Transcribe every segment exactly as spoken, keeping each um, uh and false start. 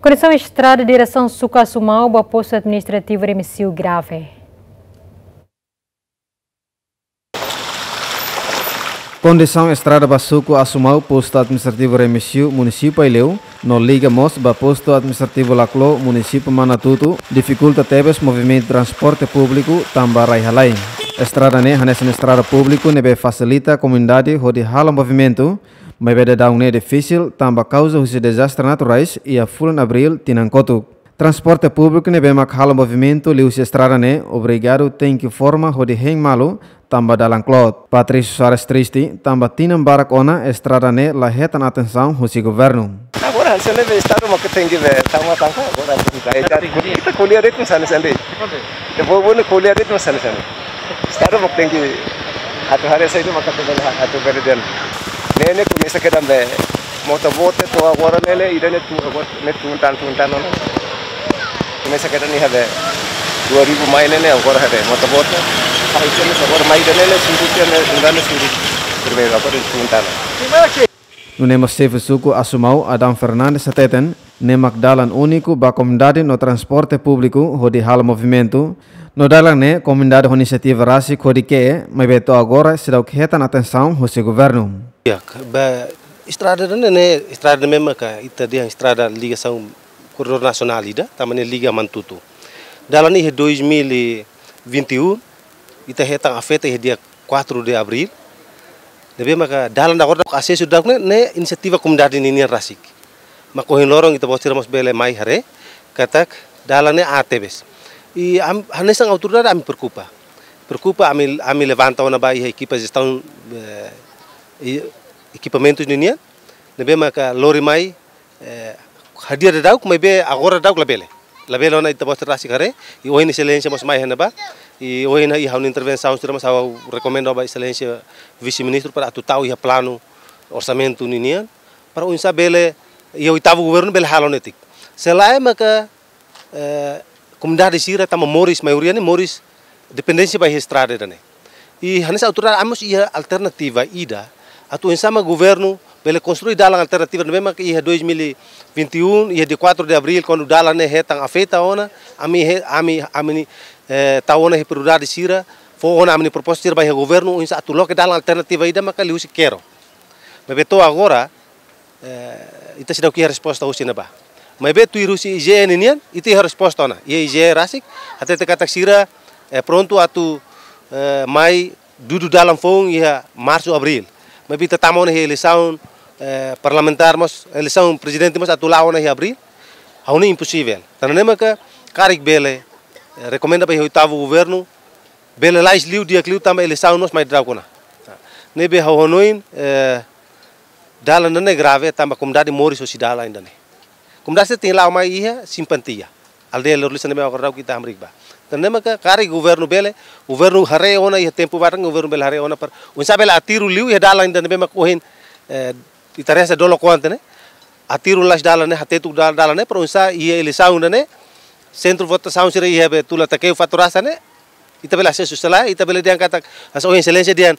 Kondisaun estrada diresaun suku Asumau ba postu administrativu Remexio grave. Kondisaun estrada ba suku Asumau, postu administrativu Remexio, munisípiu Aileu, no liga mós ba postu administrativu Laclo, munisípiu Manatuto, difikulta tebes movimentu transporte públiku tanba rai-halai. Estrada ne'e hanesan estrada públiku ne'ebé fasilita komunidade hodi halo movimentu, maibé daudaun ne'e difisil tanba kauza husi dezastre naturais iha fulan Abríl tinan kotuk. Transporte públiku ne'ebé mak halo movimentu liuhusi estrada ne'e obrigadu tenke forma hodi hein malu tanba dalan kloot. Patrício Soares triste tanba tinan barak ona estrada ne'e la hetan atensaun husi governu. Agora, hanesan ne'e be estadu mak tenke be tama tangka, agora, ita ko'alia de'it hanesan ne'e. Ita povu ne'e ko'alia de'it hanesan ne'e. Estadu mak tenke atu haree saida mak atu bele, atu bele dehan. Ne'e ne'e komesa kedan be mota-boot to'o agora ne'e, ida ne'e tun, agora ne'e tun tan, tun tan ona. Komesa kedan iha be dua ribu mai ne'e ne'e, agora haree mota-boot. Ai, komesa agora mai ida ne'e ne'e, suru tiha ne'e, ida ne'e suru. Primeiru, agora tun tan. Nune'e mós xefe suku Asumau, Adão Fernandes, hateten, ne'e mak dalan úniku ba komunidade no transporte públiku hodi halo movimentu. No dalan ne'e komunidade ho inisiativa rasik hodi ke'e, maibé to'o agora seidauk hetan atensaun husi governu. Ya, ba estrada ne'e, ne'e estrada ne'e mak ita dehan estrada ligasaun korredór nasionál ida, tanba ne'e liga Manatuto. Dalan ne'e iha dois mil e vinte e um, ita hetan afeta iha dia quatro de abril. Ne'ebé maka dalan agora daudauk asesu daudauk ne'e, ne'e inisiativa komunidade ninian rasik. Mak ohin loron ita-boot sira mós bele mai haree katak dalan ne'e aat tebes. I am, hanesan autoridade ami preokupa. Preokupa, ami, ami levanta ona ba iha ekipa jestaun, eh, i ekipamentus ninian. Ne'ebé maka lori mai, eh, hadi'a daudauk, maibé agora daudauk labele. Labele ona, ita-boot sira rasik haree, i ohin Exelénsia mós mai iha ne'ebá, i ohin iha ha'u-nia intervensaun sira mós ha'u rekomenda ba Exelénsia Vise-Ministru para atu tau iha planu orsamentu ninian, para oinsá bele, iha oitavu governu bele halo netik. Se lae maka, eh, komunidade sira tanba moris, maioria ne'e moris dependénsia ba iha estrada ida-ne'e. I hanesan autoridade ami mós iha alternativa ida atu oinsá mak governu bele konstrui dalan alternativa ne'ebé mak iha dois mil e vinte e um, iha dia quatro de abril, kuandu dalan ne'e hetan afeta ona, ami he-, ami, ami, eh, tau ona iha prioridade sira, fó ona ami-nia proposta sira ba iha governu, oinsá atu loke dalan alternativa ida maka liuhusi kero. Maibé to'o agora, eh, ita seidauk iha resposta husi ne'ebá. Maibé tuir husi I G E nian, ita iha resposta ona. Iha I G E rasik, hatete katak sira, eh, prontu atu, eh, mai dudu dalan foun iha marsu, abríl. Maibé ita tama ona iha eleisaun, eh, parlamentár mós, eleisaun prezidente mós atu la'o ona iha abríl. Ha'u hanoin imposivel. Tanba ne'e maka karik bele, eh, rekomenda ba iha oitavu governu, bele lais liu, di'ak liu tanba eleisaun mós mai daudauk ona. Ne'ebé ha'u hanoin, eh, dalan ida-ne'e grave tanba komunidade moris hosi dalan ida-ne'e. Komunidade sira tenke la'o mai iha Simpatia. Aldeia Lorolisan ne'ebé agora daudauk ita hamriik ba. Tanba ne'e maka karik governu bele, governu haree ona iha tempu badak, governu bele haree ona para oinsá bele atiru liu iha dalan ida ne'ebé mak ohin, eh, ita reza dolo kuanta ne'e. Atiru lais dalan ne'e, hatetuk dal-, dalan ne'e, para oinsá iha eleisaun ida-ne'e, sentru votasaun sira iha be Tula Takeu, Faturasa ne'e, ita bele asesu, se lae, ita bele dehan katak, hanesan ohin Exelénsia dehan,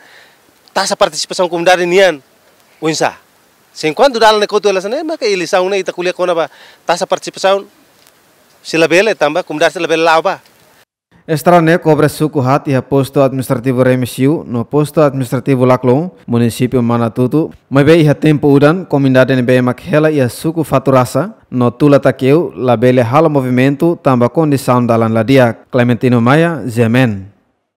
taxa partisipasaun komunidade nian oinsá. Se enkuantu dalan ne'e kotu hela hanesan ne'e, maka eleisaun ne'e ita ko'alia kona-ba taxa partisipasaun, se labele, tanba komunidade sira labele la'o ba. Estrada ne'e kobre suku haat iha postu administrativu Remexio no postu administrativu Laclo, munisípiu Manatuto, maibé iha tempu udan, komunidade ne'ebé mak hela iha suku Faturasa no Tula Takeu labele halo movimentu tanba kondisaun dalan la di'ak. Clementino Maia, G M N.